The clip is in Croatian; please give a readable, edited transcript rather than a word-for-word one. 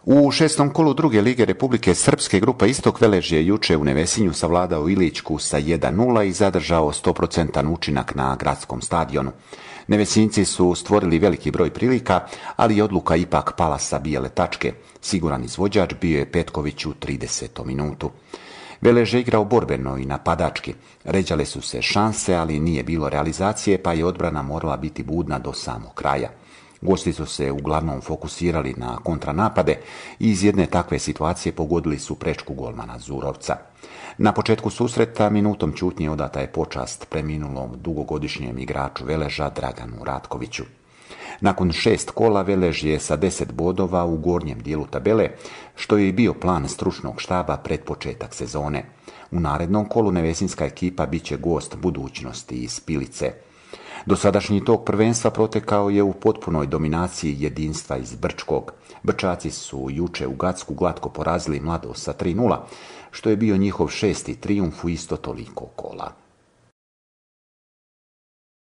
U šestom kolu druge lige Republike Srpske grupa Istok Velež je juče u Nevesinju savladao Iličku sa 1:0 i zadržao 100% učinak na gradskom stadionu. Nevesinjci su stvorili veliki broj prilika, ali je odluka ipak pala sa bijele tačke. Siguran izvođač bio je Petković u 30. minutu. Velež je igrao borbeno i napadački. Ređale su se šanse, ali nije bilo realizacije, pa je odbrana morala biti budna do samog kraja. Gosti su se uglavnom fokusirali na kontranapade i iz jedne takve situacije pogodili su prečku golmana Zurovca. Na početku susreta minutom ćutnje odata je počast preminulom dugogodišnjem igraču Veleža Draganu Ratkoviću. Nakon 6 kola Velež je sa 10 bodova u gornjem dijelu tabele, što je i bio plan stručnog štaba pred početak sezone. U narednom kolu nevesinjska ekipa bit će gost budućnosti iz Pilice. Dosadašnji tok prvenstva protekao je u potpunoj dominaciji jedinstva iz Brčkog. Brčaci su juče u Gacku glatko porazili Mladost sa 3:0, što je bio njihov 6. trijumf u isto toliko kola.